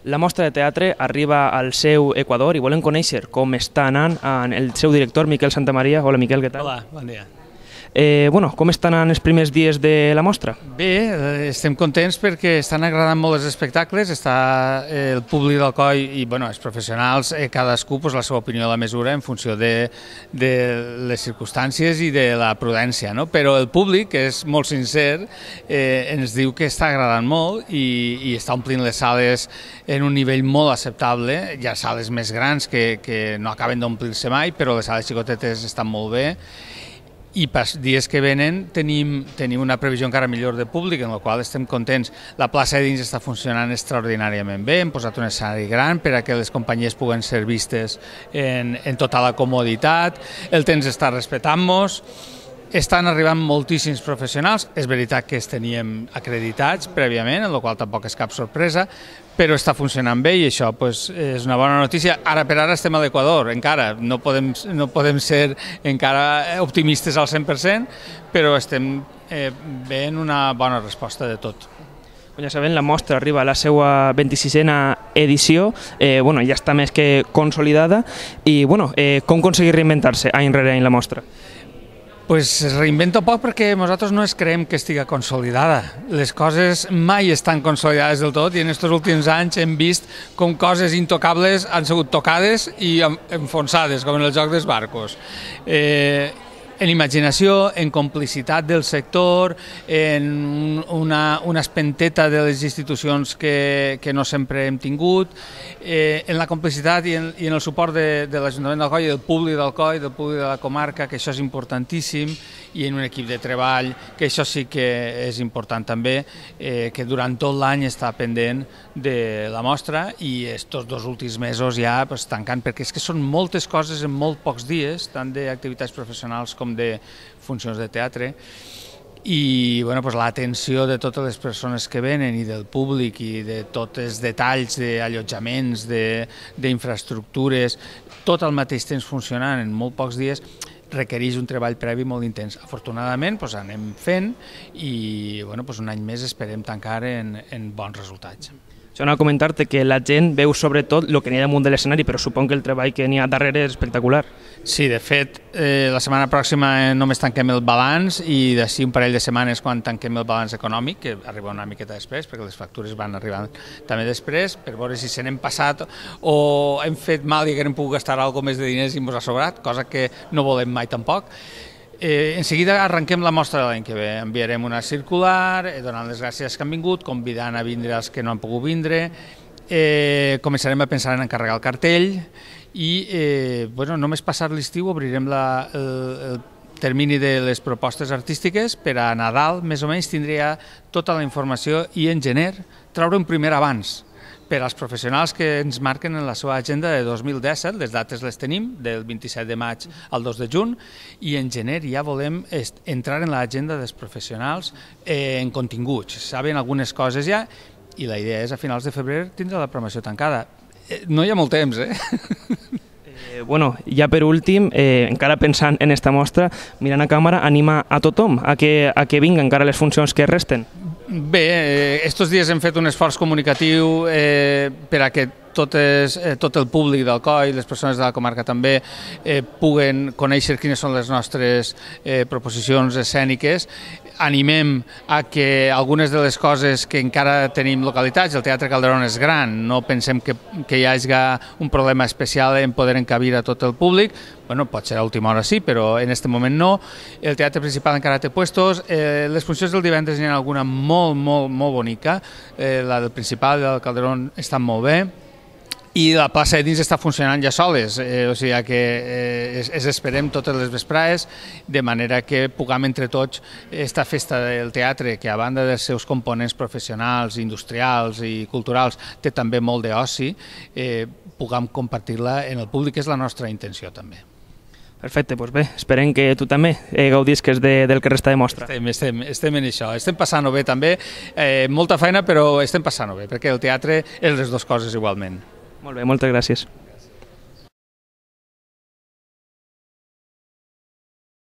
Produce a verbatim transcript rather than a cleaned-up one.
La mostra de teatre arriba al seu Equador i volem conèixer com està anant el seu director, Miquel Santamaria. Hola, Miquel, què tal? Hola, bon dia. Eh, bueno, com estan anant els primers dies de la mostra? Bé, estem contents perquè estan agradant molt els espectacles, està el públic d'Alcoi i bueno, els professionals, eh, cadascú pues, la seva opinió a la mesura en funció de, de les circumstàncies i de la prudència, no? Però el públic, que és molt sincer, eh, ens diu que està agradant molt i, i està omplint les sales en un nivell molt acceptable. Hi ha sales més grans que, que no acaben d'omplir-se mai, però les sales xicotetes estan molt bé. I per dies que venen tenim, tenim una previsió encara millor de públic, en la qual estem contents. La plaça de dins està funcionant extraordinàriament bé, hem posat un escenari gran per a que les companyies puguen ser vistes en, en tota la comoditat, el temps està respectant-nos, estan arribant moltíssims professionals, és veritat que els teníem acreditats prèviament, en la qual tampoc és cap sorpresa, però està funcionant bé i això pues, és una bona notícia. Ara per ara estem a l'Equador, encara no podem, no podem ser encara optimistes al cent per cent, però estem eh, veient una bona resposta de tot. Ja sabem, la mostra arriba a la seva vint-i-sisena edició, eh, bueno, ja està més que consolidada i bueno, eh, com aconseguir reinventar-se any rere any la mostra? Pues es reinvento poc perquè nosaltres no es creiem que estigui consolidada. Les coses mai estan consolidades del tot i en aquests últims anys hem vist com coses intocables han sigut tocades i enfonsades, com en el joc dels barcos. Eh, en imaginació, en complicitat del sector, en una, una espenteta de les institucions que, que no sempre hem tingut, eh, en la complicitat i en, i en el suport de, de l'Ajuntament d'Alcoi i del públic d'Alcoi, del públic de la comarca, que això és importantíssim, i en un equip de treball, que això sí que és important també, eh, que durant tot l'any està pendent de la mostra i estos dos últims mesos ja pues, tancant, perquè és que són moltes coses en molt pocs dies, tant d'activitats professionals com de funcions de teatre, i bueno, pues, l'atenció de totes les persones que venen i del públic i de tots els detalls d'allotjaments, d'infraestructures, tot al mateix temps funcionant en molt pocs dies, requereix un treball previ molt intens. Afortunadament doncs, anem fent i bueno, doncs, un any més esperem tancar en, en bons resultats. Això anava a comentar-te que la gent veu sobretot el que n'hi ha damunt de l'escenari, però suponc que el treball que n'hi ha darrere és espectacular. Sí, de fet, eh, la setmana pròxima només tanquem el balanç i d'ací un parell de setmanes quan tanquem el balanç econòmic, que arriba una miqueta després, perquè les factures van arribant també després, per veure si se n'hem passat o hem fet mal i haguem pogut gastar alguna més de diners i ens ha sobrat, cosa que no volem mai tampoc. Eh, en seguida arrenquem la mostra de l'any que ve, enviarem una circular, eh, donant les gràcies que han vingut, convidant a vindre els que no han pogut vindre, eh, començarem a pensar en encarregar el cartell i eh, bueno, només passat l'estiu obrirem la, el, el termini de les propostes artístiques per a Nadal, més o menys tindria tota la informació i en gener traure un primer avanç per als professionals que ens marquen en la seva agenda de dos mil disset, les dates les tenim, del vint-i-set de maig al dos de juny, i en gener ja volem entrar en l'agenda dels professionals eh, en continguts. Saben algunes coses ja, i la idea és a finals de febrer tindre la programació tancada. Eh, no hi ha molt temps, eh? Eh, bueno, ja per últim, eh, encara pensant en esta mostra, mirant a càmera, anima a tothom a que, a que vinga encara les funcions que resten. Bé, estos dies hem fet un esforç comunicatiu eh, per a que totes, eh, tot el públic d'Alcoi, les persones de la comarca també, eh, puguen conèixer quines són les nostres eh, proposicions escèniques. Animem a que algunes de les coses que encara tenim localitats, el Teatre Calderón és gran, no pensem que, que hi hagi un problema especial en poder encabir a tot el públic, bueno, pot ser a última hora sí, però en aquest moment no. El teatre principal encara té puestos, eh, les funcions del divendres n'hi ha alguna molt, molt, molt bonica, eh, la del principal, la del Calderón, estan molt bé, i la plaça de dins està funcionant ja soles, eh, o sigui que eh, es, es esperem totes les vesprades, de manera que puguem entre tots esta festa del teatre, que a banda dels seus components professionals, industrials i culturals, té també molt d'oci, eh, puguem compartir-la en el públic, que és la nostra intenció també. Perfecte, doncs bé, esperem que tu també eh, gaudisques de, del que resta de mostra. Estem, estem, estem en això, estem passant-ho bé també, eh, molta feina però estem passant-ho bé, perquè el teatre és les dues coses igualment. Molt bé, moltes gràcies.